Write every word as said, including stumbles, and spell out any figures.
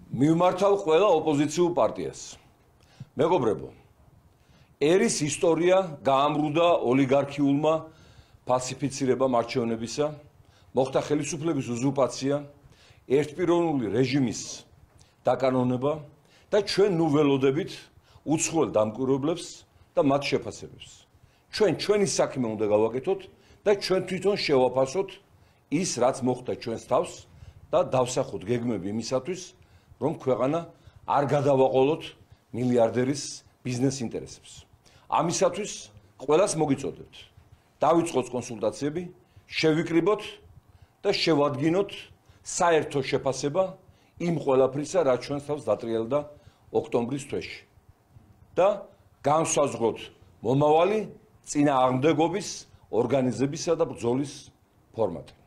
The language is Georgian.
მივმართავ ყველა ოპოზიციურ პარტიას. მეგობრებო, ერის ისტორია გაამრუდა ოლიგარქიულმა ფალსიფიცირებამ არჩევნებისა, მოხდა ხელისუფლების უზურპაცია, ერთპიროვნული რეჟიმის დაკანონება და ჩვენ ნუ ველოდებით უცხოელ დამკვირვებლებს და მათ შეფასებებს. ჩვენ ჩვენი საქმე უნდა გავაკეთოთ და ჩვენ თვითონ შევაფასოთ ის, რაც მოხდა ჩვენს თავს და დავსახოთ გეგმები იმისათვის, რომ ქვეყანა არ გადავაყოლოთ მილიარდერის ბიზნეს ინტერესებს. ამისათვის ყველას მოგიწოდებთ. დავიწყოთ კონსულტაციები, შევიკრიბოთ და შევადგინოთ საერთო შეფასება იმ ყველაფრისა, რაც ჩვენს თავს დატრიალდა ოქტომბრის თვეში. და განსაზღვროთ მომავალი წინააღმდეგობის ორგანიზებისა და ბრძოლის ფორმატი.